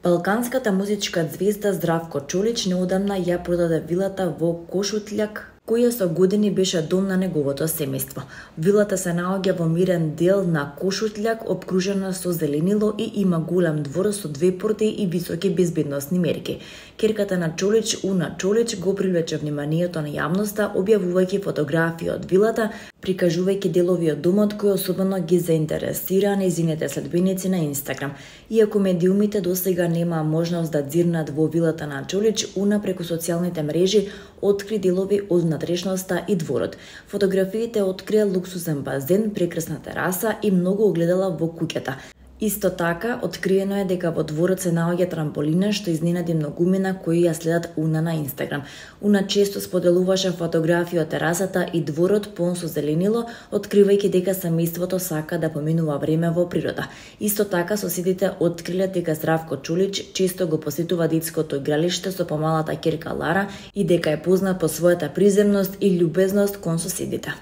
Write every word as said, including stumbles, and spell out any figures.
Балканската музичка звезда Здравко Чолич неодамна ја продаде вилата во Кошутљак, која со години беше дом на неговото семејство. Вилата се наоѓа во мирен дел на Кошутљак, обкружена со зеленило и има голем двор со две порти и високи безбедносни мерки. Ќерката на Чолич, Уна Чолич, го привлече вниманието на јавноста, објавувајќи фотографии од вилата, прикажувајќи делови од домот кои особено ги заинтересира нејзините следбеници на Инстаграм. Иако медиумите досега немаа можност да дзирнат во вилата на Чолич, Уна преку социјалните мрежи откри делови од внатрешноста и дворот. Фотографиите открија луксузен базен, прекрасна тераса и многу огледала во куќата. Исто така, откриено е дека во дворот се наоѓа трамполина што изненади многумина кои ја следат Уна на Инстаграм. Уна често споделуваше фотографии од терасата и дворот полн со зеленило, откривајќи дека семејството сака да поминува време во природа. Исто така, соседите откриле дека Здравко Чолич често го посетува детското игралиште со помалата ќерка Лара и дека е познат по својата приземност и љубезност кон соседите.